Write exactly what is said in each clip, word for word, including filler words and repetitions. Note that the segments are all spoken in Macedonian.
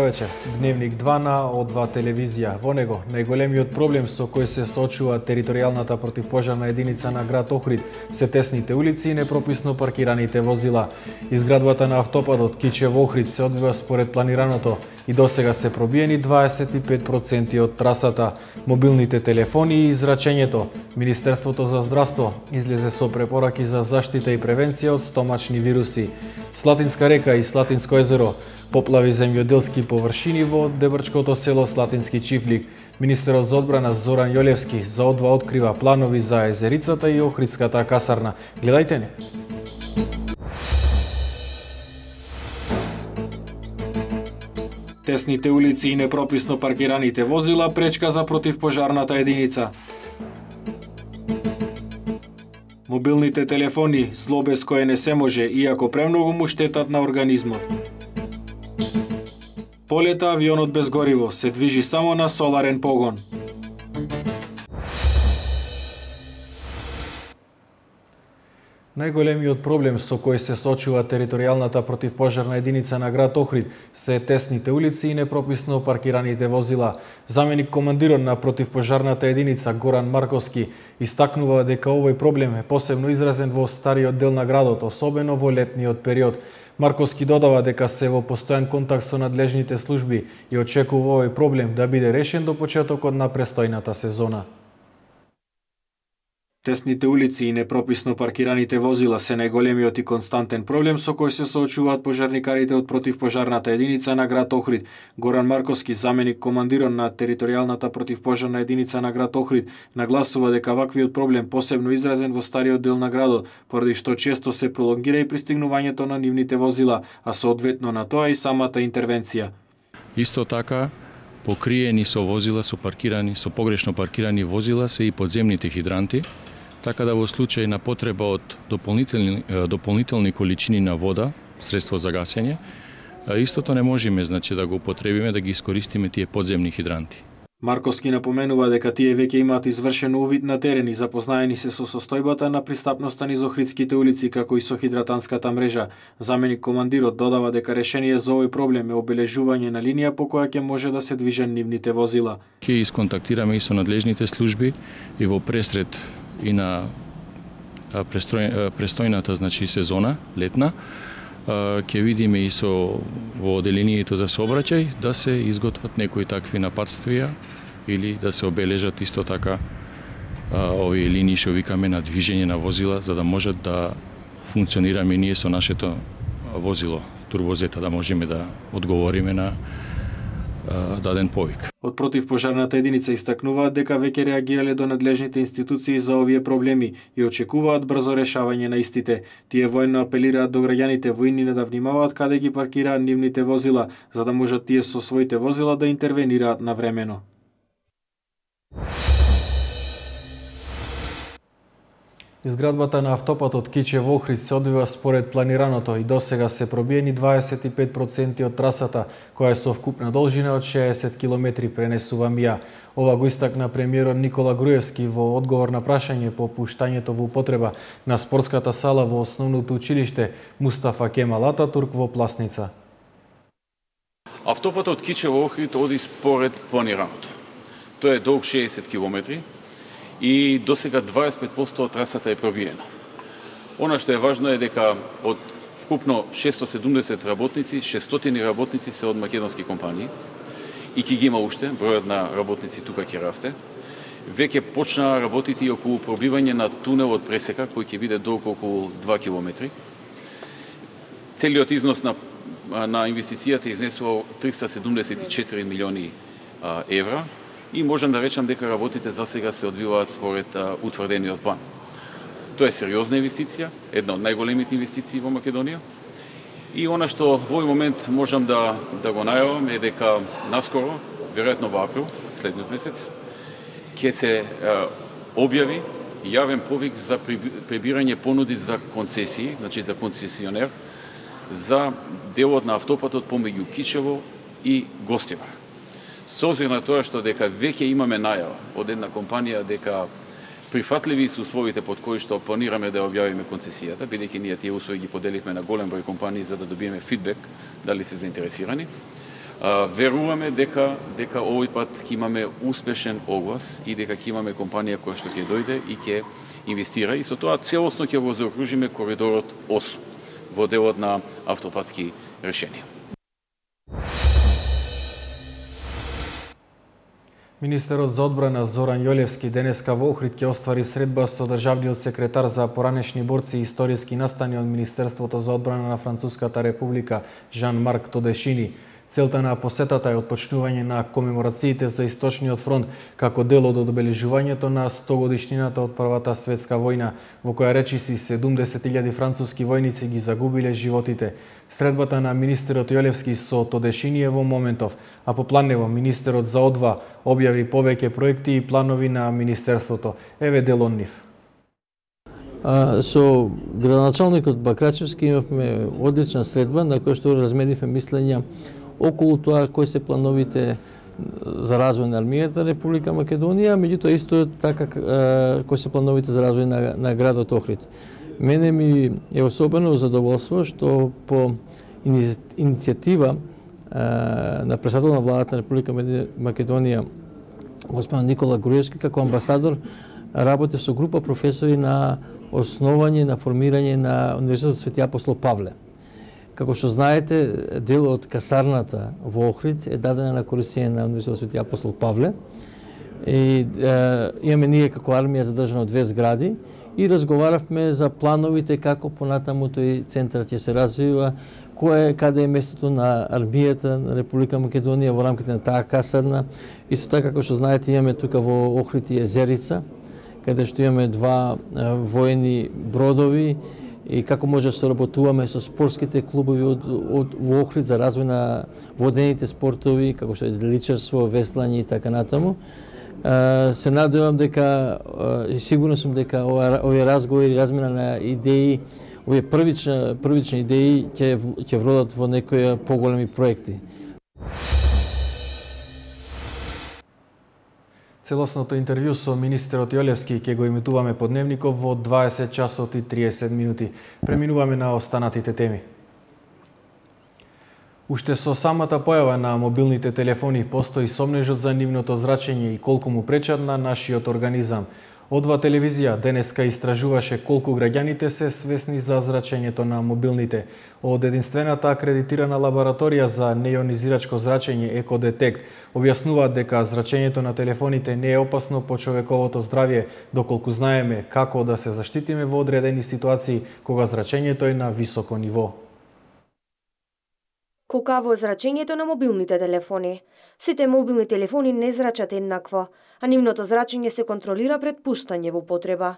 вечер. Дневник два на О два телевизија. Во него најголемиот проблем со кој се соочува територијалната противпожарна единица на град Охрид се тесните улици и непрописно паркираните возила. Изградбата на автопатот Кичево-Охрид се одвива според планираното и досега се пробиени дваесет и пет проценти од трасата. Мобилните телефони и израчењето. Министерството за здравство излезе со препораки за заштита и превенција од стомачни вируси. Слатинска река и Слатинско езеро. Поплави земјоделски површини во Дебрчкото село Слатински Чифлик. Министерот за одбрана Зоран Јолевски за О два открива планови за езерицата и Охридската касарна. Гледајте не. Тесните улици и непрописно паркираните возила пречка за противпожарната единица. Мобилните телефони зло без кое не се може, иако премногу му штетат на организмот. Полета авионот без гориво се движи само на соларен погон. Најголемиот проблем со кој се соочува територијалната противпожарна единица на град Охрид се тесните улици и непрописно паркираните возила. Заменик командирот на противпожарната единица Горан Марковски истакнува дека овој проблем е посебно изразен во стариот дел на градот, особено во летниот период. Марковски додава дека се во постојан контакт со надлежните служби и очекува овој проблем да биде решен до почетокот на престојната сезона. Тесните улици и непрописно паркираните возила се најголемиот и константен проблем со кој се соочуваат пожарникарите од противпожарната единица на град Охрид. Горан Марковски, заменик командирот на територијалната противпожарна единица на град Охрид, нагласува дека ваквиот проблем посебно изразен во стариот дел на градот, поради што често се пролонгира и пристигнувањето на нивните возила, а соодветно на тоа и самата интервенција. Исто така, покриени со возила, со паркирани, со погрешно паркирани возила се и подземните хидранти, така да во случај на потреба од дополнителни, дополнителни количини на вода, средство за гасење, истото не можеме, значи, да го употребиме, да ги искористиме тие подземни хидранти. Марковски напоменува дека тие веќе имаат извршен увид на терен и запознаени се со состојбата на пристапноста низ Охридските улици, како и со хидратанската мрежа. Заменик командирот додава дека решение за овој проблем е обележување на линија по која ќе може да се движат нивните возила. Ќе исконтактираме и со надлежните служби и во пресред и на престој, престојната, значи, сезона, летна, ќе видиме и со во оделението за сообраќај да се изготват некои такви напатствија или да се обележат исто така овие линии што викаме на движење на возила, за да можат да функционираме ние со нашето возило турбозета, да можеме да одговориме на даден повик. Од противпожарната единица истакнуваат дека веќе реагирале до надлежните институции за овие проблеми и очекуваат брзо решавање на истите. Тие војно апелираат до граѓаните војни да внимаваат каде ги паркираат нивните возила, за да можат тие со своите возила да интервенираат навремено. Изградбата на автопатот Кичево-Охрид се одвива според планираното и досега се пробиени дваесет и пет проценти од трасата, која е со вкупна должина од шеесет километри, пренесува МИА. Ова го истакна премиерот Никола Груевски во одговор на прашање по пуштањето во употреба на спортската сала во основното училиште Мустафа Кемал Ататурк во Пласница. Автопатот Кичево-Охрид оди според планираното. Тој е долг шеесет километри. И досега дваесет и пет проценти од трасата е пробиена. Она што е важно е дека од вкупно шестстотини и седумдесет работници, шестстотини работници се од македонски компании и ќе ги има уште, бројот на работници тука ќе расте. Веќе почна работите и околу пробивање на тунелот пресека, кој ќе биде долг околу два километри. Целиот износ на, на инвестицијата изнесува триста седумдесет и четири милиони а, евра. И можам да речам дека работите за сега се одвиваат според а, утврдениот план. Тоа е сериозна инвестиција, една од најголемите инвестиции во Македонија. И она што во овој момент можам да, да го најавам е дека наскоро, веројатно во април, следниот месец, ќе се а, објави јавен повик за прибирање понуди за концесии, значи за концесионер, за делот на автопатот помеѓу Кичево и Гостивар. Со обзир на тоа што дека веќе имаме најава од една компанија дека прифатливи се условите под кои што планираме да објавиме концесијата, бидејќи ние тие услови ги поделивме на голем број компании за да добиеме фидбек дали се заинтересирани. Веруваме дека дека овој пат ќе имаме успешен оглас и дека ќе имаме компанија која што ќе дојде и ќе инвестира и со тоа целосно ќе го заокружиме коридорот осум во делот на автопатски решенија. Министерот за одбрана Зоран Јолевски денеска во Охрид ќе оствари средба со државниот секретар за поранешни борци и историски настани од Министерството за одбрана на Француската република Жан-Марк Тодешини. Целта на посетата е отпочнување на комеморациите за Источниот фронт како дел од одбележувањето на сто годишнината од Првата светска војна, во која речиси седумдесет илјади француски војници ги загубиле животите. Средбата на министерот Јолевски со Тодешини е во моментов, а по планево министерот за одва објави повеќе проекти и планови на министерството. Еве дел од нив. А, со градоначалникот Бакрачевски имавме одлична средба на која што разменивме мислења околу тоа кои се плановите за развој на армијата на Република Македонија, меѓутоа исто така кои се плановите за развој на, на градот Охрид. Мене ми е особено задоволство што по иницијатива на председател на владата на Република Македонија господин Никола Груевски како амбасадор работи со група професори на основање на формирање на Универзитетот Свети Апостол Павле. Како што знаете, дел од касарната во Охрид е дадена на користење на Универзитетот Свети Апостол Павле. И е, имаме ние како армија задржано две згради и разговаравме за плановите како понатаму тој центар ќе се развива, кое каде е местото на армијата на Република Македонија во рамките на таа касарна. Исто така како што знаете, имаме тука во Охрид и Езерица, каде што имаме два е, воени бродови и како може да соработуваме со спортските клубови од, од во Охрид за развој на водените спортови, како што е личарство, веслање и така натаму. Uh, се надевам дека и uh, сигурно сум дека овие разговори и размена на идеи, овие првични првични идеи ќе ќе вродат во некои поголеми проекти. Целосното интервју со министерот Јолевски ќе го емитуваме по дневников во дваесет часот и триесет минути. Преминуваме на останатите теми. Уште со самата појава на мобилните телефони постои сомнежот за нивното зрачење и колку му пречат на нашиот организам. Одва телевизија денеска истражуваше колку граѓаните се свесни за зрачењето на мобилните. Од единствената акредитирана лабораторија за неионизирачко зрачење Екодетект објаснуваат дека зрачењето на телефоните не е опасно по човековото здравје, доколку знаеме како да се заштитиме во одредени ситуации кога зрачењето е на високо ниво. Колкаво е зрачењето на мобилните телефони? Сите мобилни телефони не зрачат еднакво, а нивното зрачење се контролира пред пуштање во употреба.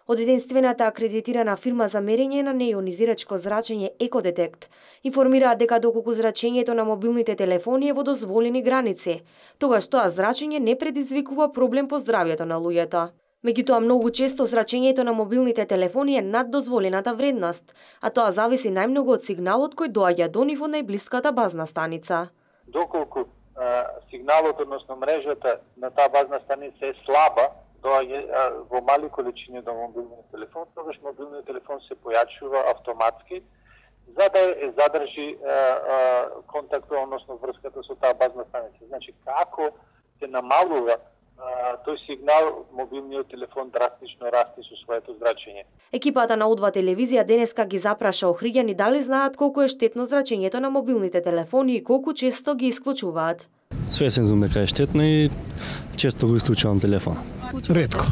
Од единствената акредитирана фирма за мерење на неионизирачко зрачење Екодетект информираат дека доколку зрачењето на мобилните телефони е во дозволени граници, тогаш тоа зрачење не предизвикува проблем по здравјето на луѓето. Меѓутоа, многу често зрачењето на мобилните телефони е над дозволената вредност, а тоа зависи најмногу од сигналот кој доаѓа до нив од најблиската базна станица. Доколку а, сигналот, односно мрежата на таа базна станица е слаба, доаѓа во мали количини до мобилниот телефон, тогаш мобилниот телефон се појачува автоматски, за да е задржи а, а, контактот, односно врската со таа базна станица. Значи, како се намалува тој сигнал, мобилниот телефон драстично расте со своето зрачење. Екипата на Одва телевизија денеска ги запраша охриѓани дали знаат колку е штетно зрачењето на мобилните телефони и колку често ги исклучуваат. Свесен сум дека е штетно и често го исклучувам телефон. Ретко,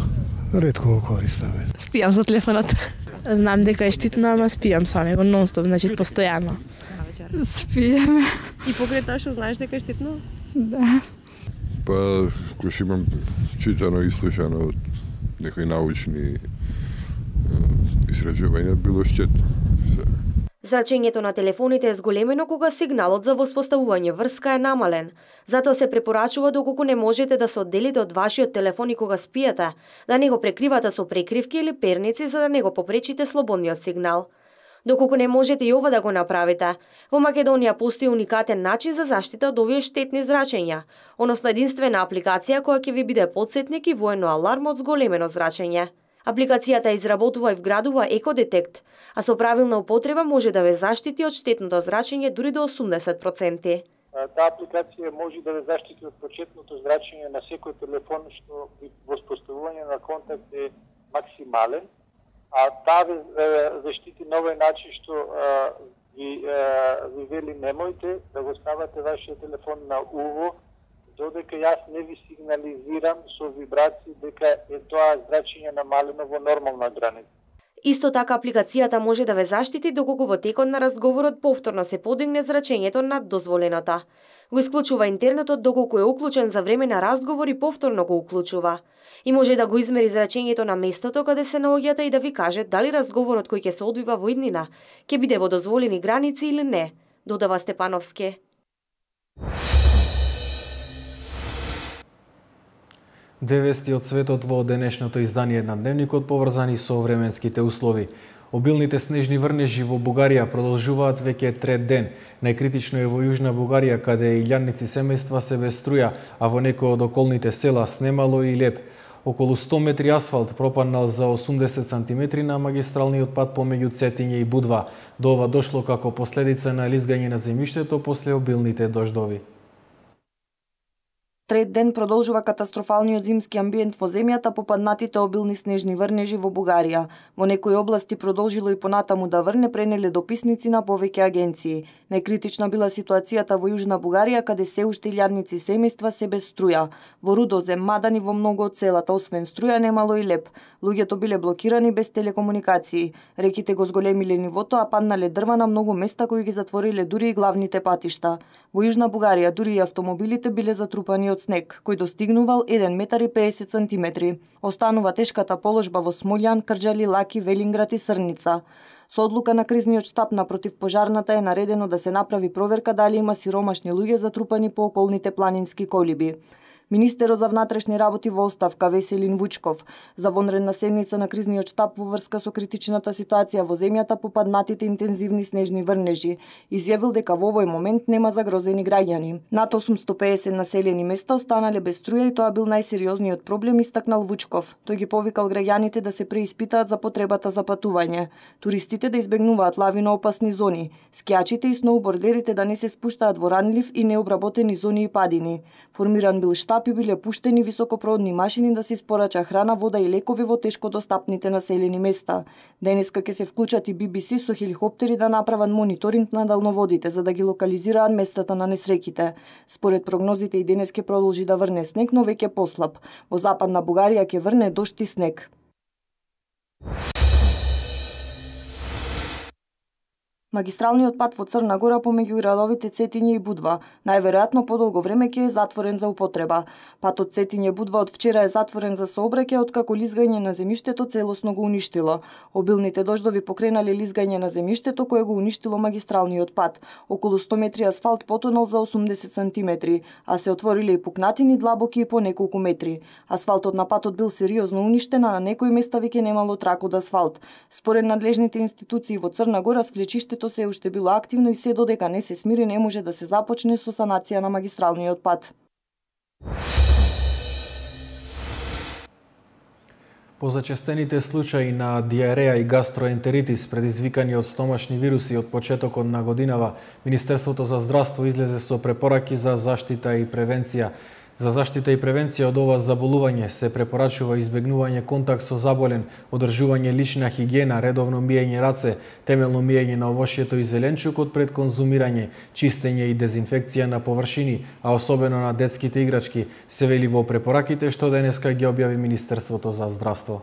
ретко го користам. Спијам за телефонот. Знам дека е штетно, ама спијам со него нонстоп, значи постојано. Спијам. И покрај тоа што знаеш дека е штетно? Да. Па, кој имам читано и слушано од некои научни истражувања, било штетно. Зрачењето на телефоните е зголемено кога сигналот за воспоставување врска е намален. Затоа се препорачува доколку не можете да се одделите од вашиот телефон и кога спиете, да не го прекривате со прекривки или перници за да не го попречите слободниот сигнал. Доколку не можете и ова да го направите, во Македонија постои уникатен начин за заштита од овие штетни зрачења, односно единствена апликација која ќе ви биде потсетник и воено аларм од зголемено зрачење. Апликацијата изработува и вградува Екодетект, а со правилна употреба може да ве заштити од штетното зрачење дури до осумдесет проценти. Таа апликација може да ве заштити од почетното зрачење на секој телефон што при воспоставување на контакт е максимален, а таа ве заштити на овој начин што ви, ви вели немојте да го ставате вашиот телефон на уво, додека јас не ви сигнализирам со вибрации дека е тоа зрачење намалено во нормална граница. Исто така апликацијата може да ве заштити доколку во текот на разговорот повторно се подигне зрачењето над дозволената. Го исклучува интернетот доколку е уклучен за време на разговор и повторно го уклучува. И може да го измери зрачењето на местото каде се наоѓате и да ви каже дали разговорот кој ќе се одвива во иднина ќе биде во дозволени граници или не, додава Степановски. Две вести од светот во денешното издание на Дневникот поврзани со временските услови. Обилните снежни врнежи во Бугарија продолжуваат веќе трет ден. Најкритично е во Јужна Бугарија, каде илјадници семејства се без струја, а во некои од околните села Снемало и Леп. Околу сто метри асфалт пропаднал за осумдесет сантиметри на магистралниот пат помеѓу Цетиње и Будва. До ова дошло како последица на лизгање на земјиштето после обилните дождови. Трет ден продолжува катастрофалниот зимски амбиент во земјата по паднатите обилни снежни врнежи во Бугарија. Во некои области продолжило и понатаму да врне, пренеле дописници на повеќе агенции. Најкритична била ситуацијата во Јужна Бугарија, каде се уште илјадници семејства се без струја. Во Рудозем, Мадан и во многу од селата, освен струја, немало и леп. Луѓето биле блокирани без телекомуникации. Реките го зголемиле нивото, а паднале дрва на многу места кои ги затвориле дури и главните патишта. Во Јужна Бугарија дури и автомобилите биле затрупани од снег, кој достигнувал еден метар и педесет сантиметри. Останува тешката положба во Смолјан, Крџали, Лаки, Велинград и Срница. Со одлука на кризниот штаб на противпожарната е наредено да се направи проверка дали има сиромашни луѓе затрупани по околните планински колиби. Министерот за внатрешни работи во оставка Веселин Вучков за вонредна седница на кризниот штаб во врска со критичната ситуација во земјата по паднатите интензивни снежни врнежи изјавил дека во овој момент нема загрозени граѓани. Над осумсто педесет населени места останале без струја и тоа бил најсериозниот проблем, истакнал Вучков. Тој ги повикал граѓаните да се преиспитаат за потребата за патување, туристите да избегнуваат лавиноопасни зони, скијачите и сноубордерите да не се спуштаат во ранлив и необработени зони и падини. Формиран бил штаб и биле пуштени високопродни машини да се испорача храна, вода и лекови во тешко достапните населени места. Денеска ќе се вклучат и Би Би Си со хеликоптери да направат мониторинг на далноводите за да ги локализираат местата на несреќите. Според прогнозите и денес ќе продолжи да врне снег, но веќе послаб. Во западна Бугарија ќе врне дожд и снег. Магистралниот пат во Црна Гора помеѓу градовите Цетиње и Будва најверојатно подолго време ќе е затворен за употреба. Патот Цетиње Будва од вчера е затворен за сообраќај откако лизгање на земјиштето целосно го уништило. Обилните дождови покренале лизгање на земјиштето кое го уништило магистралниот пат. Околу сто метри асфалт потонал за осумдесет сантиметри, а се отвориле и пукнатини длабоки и по неколку метри. Асфалтот на патот бил сериозно уништен, а на некои места веќе немало трак од асфалт. Според надлежните институции во Црна Гора, свлечиштето се уште било активно и се додека не се смири не може да се започне со санација на магистралниот пат. По зачестените случаи на диареја и гастроентеритис предизвикани од стомашни вируси од почетокот на годинава, Министерството за здравство излезе со препораки за заштита и превенција. За заштита и превенција од ова заболување се препорачува избегнување контакт со заболен, одржување лична хигиена, редовно миење раце, темелно миење на овошјето и зеленчукот пред конзумирање, чистење и дезинфекција на површини, а особено на детските играчки, се вели во препораките што денеска ги објави Министерството за здравство.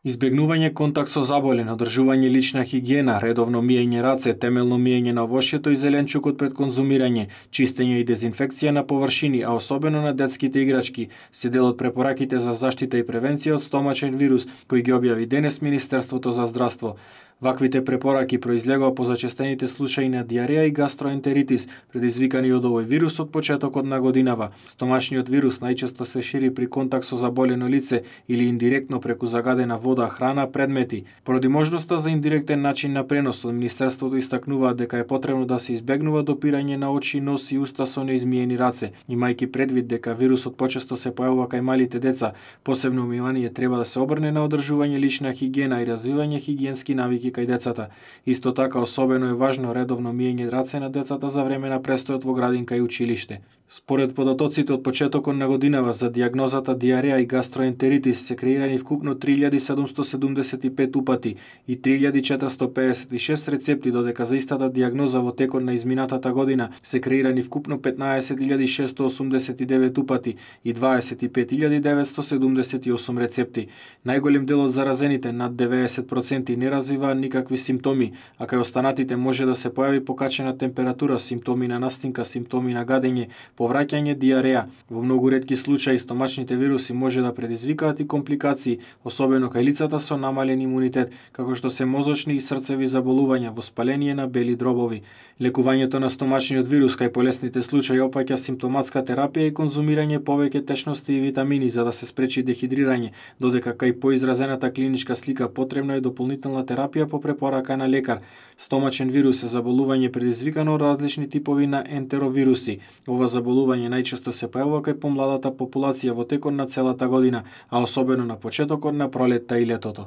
Избегнување контакт со заболен, одржување лична хигиена, редовно миење раце, темелно миење на овошјето и зеленчукот пред конзумирање, чистење и дезинфекција на површини, а особено на детските играчки, се дел од препораките за заштита и превенција од стомачен вирус, кои ги објави денес Министерството за здравство. Ваквите препораки произлегоа по зачестените случаи на диареја и гастроентеритис, предизвикани од овој вирус од почетокот на годинава. Стомашниот вирус најчесто се шири при контакт со заболено лице или индиректно преку загадена вода, храна, предмети. Поради можноста за индиректен начин на пренос, Министерството истакнува дека е потребно да се избегнува допирање на очи, нос и уста со неизмиени раце, имајќи предвид дека вирусот почесто се појавува кај малите деца. Посебно внимание треба да се обрне на одржување лична хигиена и развивање хигиенски навики кај децата. Исто така особено е важно редовно миење раце на децата за време на престојот во градинка и училиште. Според податоците од почетокот на годинава за дијагнозата диареја и гастроентеритис се креирани вкупно три илјади седумсто седумдесет и пет упати и три илјади четиристо пеесет и шест рецепти, додека за истата дијагноза во текот на изминатата година се креирани вкупно петнаесет илјади шестsto осумдесет и девет упати и дваесет и пет илјади деветсто седумдесет и осум рецепти. Најголем дел од заразените, над деветдесет проценти, не развиваат никакви симптоми, а кај останатите може да се појави покачена температура, симптоми на настинка, симптоми на гадење, повраќање, диареја. Во многу ретки случаи стомачните вируси може да предизвикаат и компликации, особено кај лицата со намален имунитет, како што се мозочни и срцеви заболувања, воспаление на бели дробови. Лекувањето на стомачниот вирус кај полесните случаи опфаќа симптоматска терапија и конзумирање повеќе течности и витамини за да се спречи дехидрирање, додека кај поизразената клиничка слика потребна е дополнителна терапија по препорака на лекар. Стомачен вирус е заболување предизвикано од различни типови на ентеровируси. Ова заболување најчесто се појавува кај помладата популација во текот на целата година, а особено на почетокот на пролетта и летото.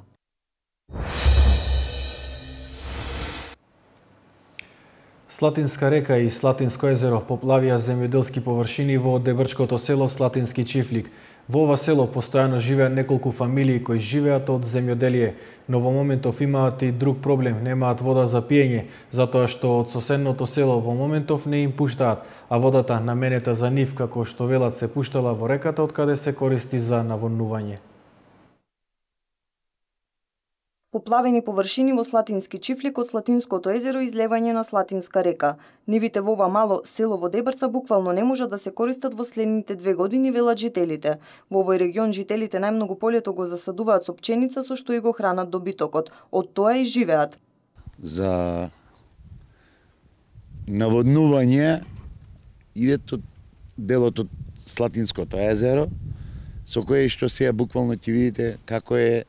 Слатинска река и Слатинско езеро поплавија земјоделски површини во дебрчкото село Слатински Чифлик. Во ова село постојано живеат неколку фамилии кои живеат од земјоделие, но во моментов имаат и друг проблем, немаат вода за пиење, затоа што од соседното село во моментов не им пуштаат, а водата наменета за нив, како што велат, се пуштала во реката од каде се користи за наводнување. Поплавени површини во Слатински Чифлик од Слатинското езеро и излевање на Слатинска река. Нивите во ова мало село во Дебрца буквално не можат да се користат во следните две години, велат жителите. Во овој регион жителите најмногу полето го засадуваат со пченица со што и го хранат добитокот. Од тоа и живеат. За наводнување иде од делот од Слатинското езеро, со кое што сега буквално ќе видите како е.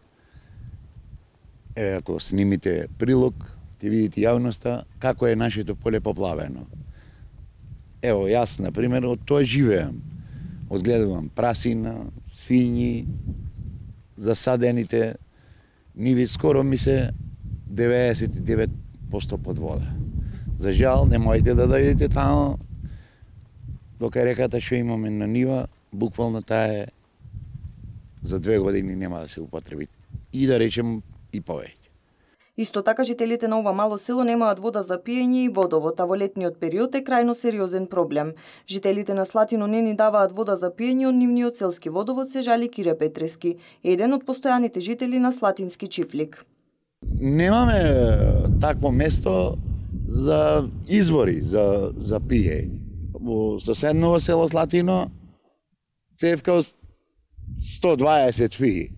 Е, ако снимите прилог, ќе видите јавноста како е нашето поле поплавено. Ево, јас, например, од тоа живеам. Одгледувам прасина, свињи, засадените ниви, скоро ми се деветдесет и девет проценти под вода. За жал, не можете да дојдете таму, дока реката што имаме на нива, буквално таа е за две години нема да се употреби. И да речем, и повеќе. Исто така жителите на ова мало село немаат вода за пиење и водовод, а во летниот период е крајно сериозен проблем. Жителите на Слатино не ни даваат вода за пиење од нивниот селски водовод, се жали Кире Петрески, еден од постојаните жители на Слатински Чифлик. Немаме такво место за извори за за пиење. Во соседно село Слатино цевка сто дваесет фи.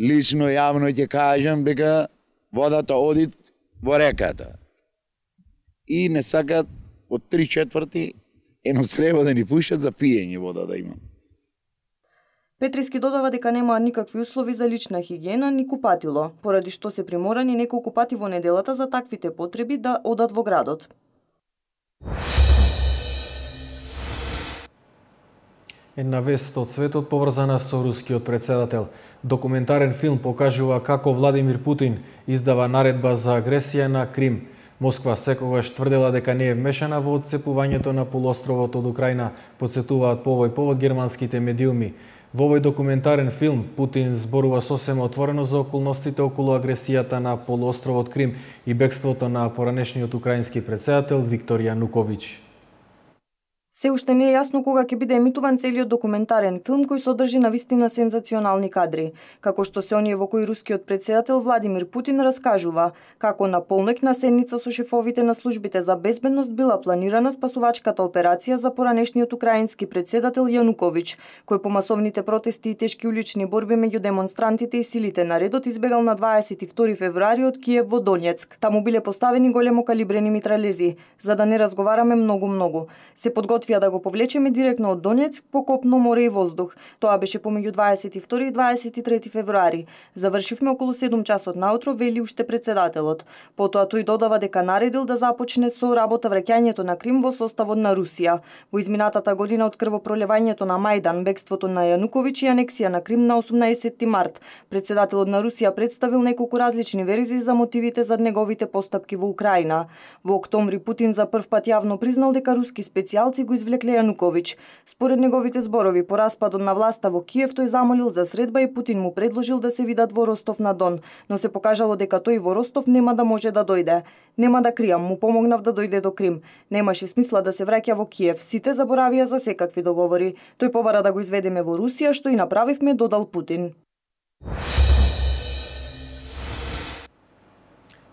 Лично, јавно ќе кажам дека водата оди во реката. И не сакат од три четврти едно среба да ни пуштат за пиење вода да има. Петриски додава дека немаат никакви услови за лична хигиена ни купатило, поради што се приморани неколку пати во неделата за таквите потреби да одат во градот. Една вест од светот поврзана со рускиот претседател. Документарен филм покажува како Владимир Путин издава наредба за агресија на Крим. Москва секогаш тврдела дека не е вмешана во отцепувањето на полуостровот од Украина, подсетуваат по овој повод германските медиуми. Во овој документарен филм Путин зборува сосема отворено за околностите околу агресијата на полуостровот Крим и бегството на поранешниот украински претседател Виктор Јануковиќ. Се уште не е јасно кога ќе биде емитуван целиот документарен филм кој содржи навистина сензационални кадри, како што се оние во кои рускиот претседател Владимир Путин раскажува како на полнок на седница со шефовите на службите за безбедност била планирана спасувачката операција за поранешниот украински претседател Јануковиќ, кој по масовните протести и тешки улични борби меѓу демонстрантите и силите на редот избегал на дваесет и втори февруари од Киев во Донецк. Таму биле поставени големо калибрени митралези, за да не разговараме многу-многу. Се подготви успеа да го повлечеме директно од Донецк по копно, море и воздух. Тоа беше помеѓу дваесет и втори и дваесет и трети февруари. Завршивме околу седум часот наутро, вели уште председателот. Потоа тој додава дека наредил да започне со работа враќањето на Крим во составот на Русија. Во изминатата година од крвопроливањето на Мајдан, бегството на Јануковиќ и анексија на Крим на осумнаесетти март, председателот на Русија представил неколку различни верзии за мотивите за неговите постапки во Украина. Во октомври Путин за прв пат јавно признал дека руски специјалци го извлекле Јануковиќ. Според неговите зборови, по распадот на власта во Киев, тој замолил за средба и Путин му предложил да се видат во Ростов на Дон, но се покажало дека тој во Ростов нема да може да дојде. Нема да кријам, му помогнав да дојде до Крим. Немаше смисла да се враќа во Киев, сите заборавија за секакви договори. Тој побара да го изведеме во Русија, што и направивме, додал Путин.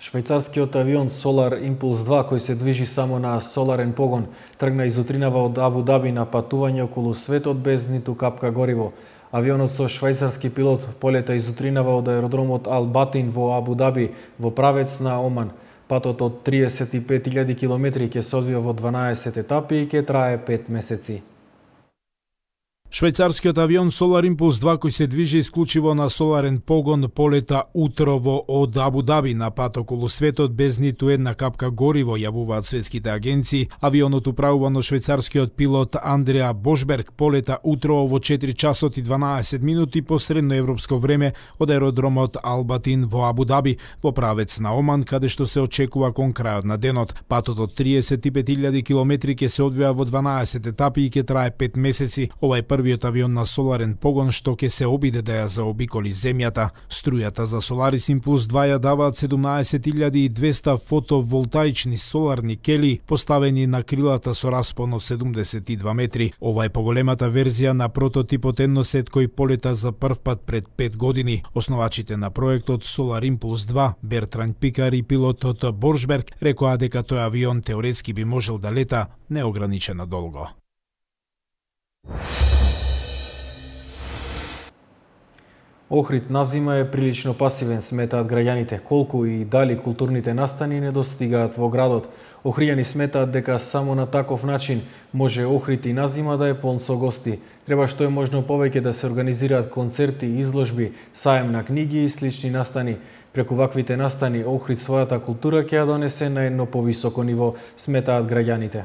Швајцарскиот авион Solar Impulse два, кој се движи само на соларен погон, тргна изутринава од Абу Даби на патување околу светот без ниту капка гориво. Авионот со швајцарски пилот полета изутринава од аеродромот Ал Батин во Абу Даби во правец на Оман. Патот од триесет и пет илјади километри ќе се одвива во дванаесет етапи и ќе трае пет месеци. Швајцарскиот авион Solar Impulse два, кој се движи исклучиво на соларен погон, полета утрово од Абу Даби на пат околу светот без ниту една капка гориво, јавуваат светските агенции. Авионот управуван од швајцарскиот пилот Андреа Бошберг полета утрово во четири часот и дванаесет минути по средноевропско време од аеродромот Албатин во Абу Даби во правец на Оман, каде што се очекува кон крајот на денот. Патот од триесет и пет илјади километри ќе се одвива во дванаесет етапи и ќе трае пет месеци. Ова е првиот авион на соларен погон што ќе се обиде да ја заобиколи земјата. Струјата за Solaris Impulse два ја даваат седумнаесет илјади и двесте фотоволтаични соларни кели поставени на крилата со распон од седумдесет и два метри. Ова е поголемата верзија на прототипот едносет кој полета за прв пат пред пет години. Основачите на проектот Solar Impulse два, Бертран Пикар и пилотот Боршберг, рекоа дека тој авион теоретски би можел да лета неограничено долго. Охрид на зима е прилично пасивен, сметаат граѓаните. Колку и дали културните настани не достигаат во градот. Охријани сметаат дека само на таков начин може Охрид и на зима да е полн со гости. Треба што е можно повеќе да се организираат концерти, изложби, саем на книги и слични настани. Преку ваквите настани Охрид својата култура ќе ја донесе на едно повисоко ниво, сметаат граѓаните.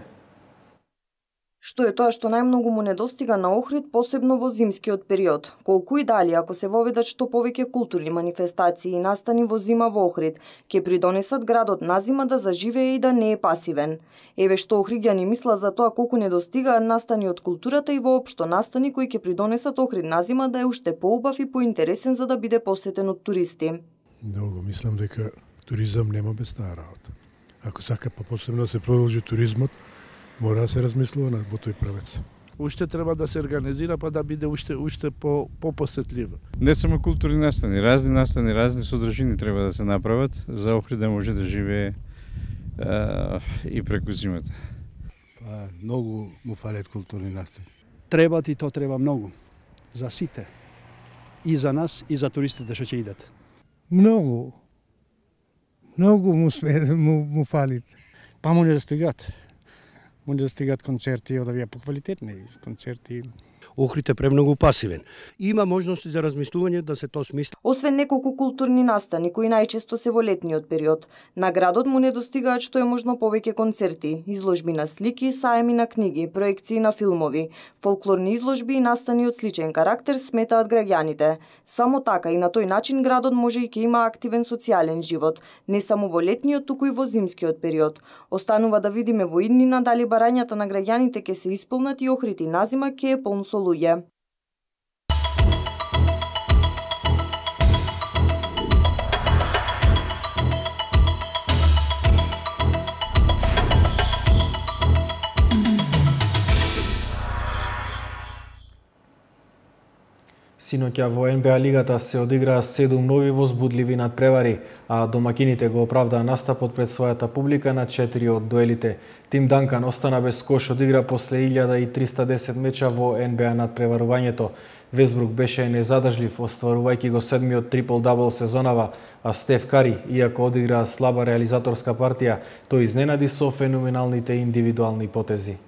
Што е тоа што најмногу му недостига на Охрид, посебно во зимскиот период? Колку и дали, ако се воведат што повеќе културни манифестации и настани во зима во Охрид, ќе придонесат градот на зима да заживее и да не е пасивен? Еве што охриѓани мисла за тоа колку недостигаат настани од културата и воопшто настани кои ќе придонесат Охрид на зима да е уште поубав и поинтересен за да биде посетен од туристи. Многу мислам дека туризам нема без таа работа. Ако сака па посебно да се продолжи туризмот, мора да се размислува на во тој правец. Уште треба да се организира па да биде уште уште по попосетлива. Не само културни настани, разни настани, разни содржини треба да се направат за Охрид да може да живее а, и преку зимата. Па многу му фалат културни настани. Треба и то треба многу за сите. И за нас и за туристите што ќе идат. Многу. Многу му сме му, му фалит. Па може да стигат. Може да стигат концерти од овие поквалитетни концерти. Охрид е премногу пасивен. Има можности за размислување да се тоа смисли. Освен неколку културни настани кои најчесто се во летниот период, на градот му недостигаат што е можно повеќе концерти, изложби на слики, саеми на книги, проекции на филмови, фолклорни изложби и настани од сличен карактер, сметаат граѓаните. Само така и на тој начин градот може и ќе има активен социјален живот, не само во летниот, туку и во зимскиот период. Останува да видиме во иднина дали барањата на граѓаните ќе се исполнат и Охрид и назима ќе е полн со луѓе. Синоќа во Ен Бе А лигата се одиграа седум нови возбудливи надпревари, а домакините го оправдаа настапот пред својата публика на четири од дуелите. Тим Данкан остана без кош од игра после илјада и триста и десет меча во Ен Бе А надпреварувањето. Весбрук беше незадржлив, остварувајќи го седмиот трипл-дабл сезонава, а Стеф Кари, иако одигра слаба реализаторска партија, тој изненади со феноменалните индивидуални потези.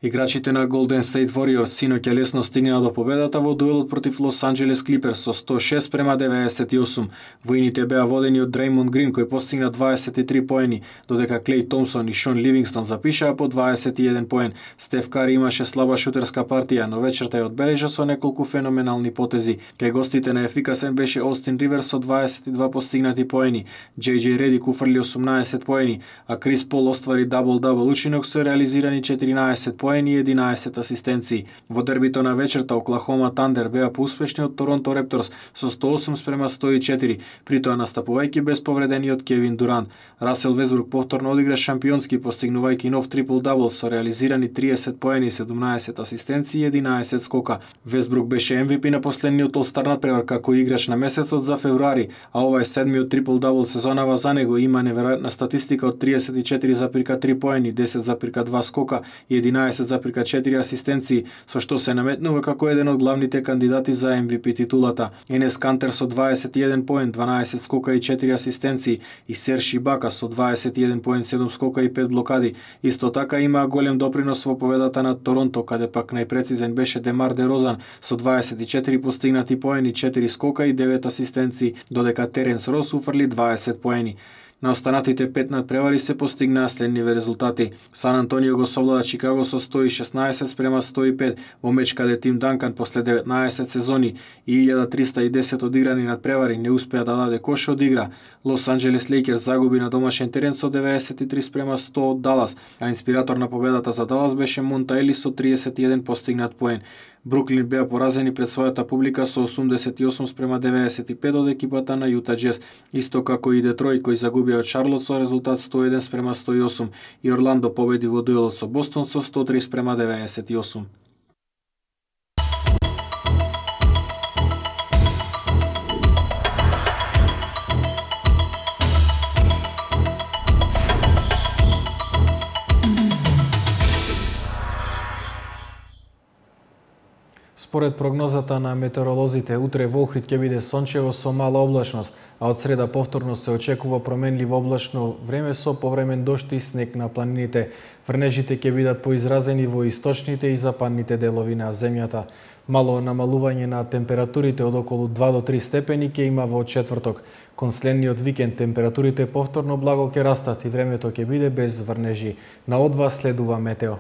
Играчите на Golden State Warriors синоќа лесно стигнаа до победата во дуелот против Лос Анџелес Клиперс со сто и шест према деветдесет и осум. Воините беа водени од Дреймонд Грин кој постигна дваесет и три поени, додека Клеј Томсон и Шон Ливингстон запишаа по дваесет и еден поен. Стеф Кари имаше слаба шутерска партија, но вечерта ја одбележа со неколку феноменални потези. Кај гостите на ефикасен беше Остин Риверс со дваесет и два постигнати поени. Џеј Џеј Редик уфрли осумнаесет поени, а Крис Пол оствари дабл-дабл учинок со реализирани четиринаесет поени и единаесет асистенции. Во дербито на вечерта Оклахома Тандер беа поуспешни од Торонто Репторс со сто и осум спрема сто и четири, притоа настапувајќи без повредениот Кевин Дурант. Расел Весбрук повторно одигра шампионски, постигнувајќи нов трипл-дабл со реализирани триесет поени, седумнаесет асистенции и единаесет скока. Весбрук беше Ем Ви Пи на последниот All-Star надпревар како играч на месецот за февруари, а ова е седмиот трипл-дабл сезонава за него. Има неверојатна статистика од триесет и четири зарез три поени, десет зарез два скока и единаесет зарез четири асистенции, со што се наметнува како еден од главните кандидати за Ем Ви Пи титулата. Енес Кантер со дваесет и еден поен, дванаесет скока и четири асистенции и Серж Ибака со дваесет и еден поен, седум скока и пет блокади. Исто така има голем допринос во победата над Торонто, каде пак најпрецизен беше Демар Дерозан со дваесет и четири постигнати поени, четири скока и девет асистенции, додека Теренс Рос уфрли дваесет поени. На останатите пет надпревари се постигнаа следниве резултати. Сан Антонио го совлада Чикаго со сто и шеснаесет спрема сто и пет во меч каде Тим Данкан после деветнаесет сезони и илјада триста и десет одиграни надпревари не успеа да даде кош од игра. Лос Анџелес Лейкерс загуби на домашен терен со деветдесет и три спрема сто од Далас, а инспиратор на победата за Далас беше Монта Елис со тридесет и еден постигнат поен. Бруклин беа поразени пред својата публика со осумдесет и осум спрема деветдесет и пет од екипата на Јута Џез, исто како и Детройт кој загуби од Шарлот со резултат сто и еден спрема сто и осум и Орландо победи во дуелот со Бостон со сто и три спрема деветдесет и осум. Според прогнозата на метеоролозите, утре во Охрид ќе биде сончево со мала облачност, а од среда повторно се очекува променливо облачно време со повремен дожд и снег на планините. Врнежите ќе бидат поизразени во источните и западните делови на земјата. Мало намалување на температурите од околу два до три степени ќе има во четврток. Кон следниот викенд температурите повторно благо ќе растат и времето ќе биде без врнежи. На од вас следува метео.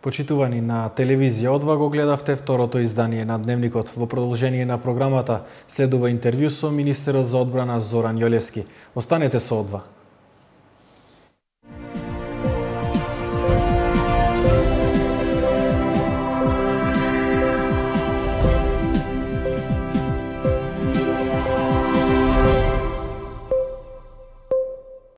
Почитувани на телевизија, одва го гледавте второто издание на Дневникот. Во продолжение на програмата следува интервју со министерот за одбрана Зоран Јолевски. Останете со одва.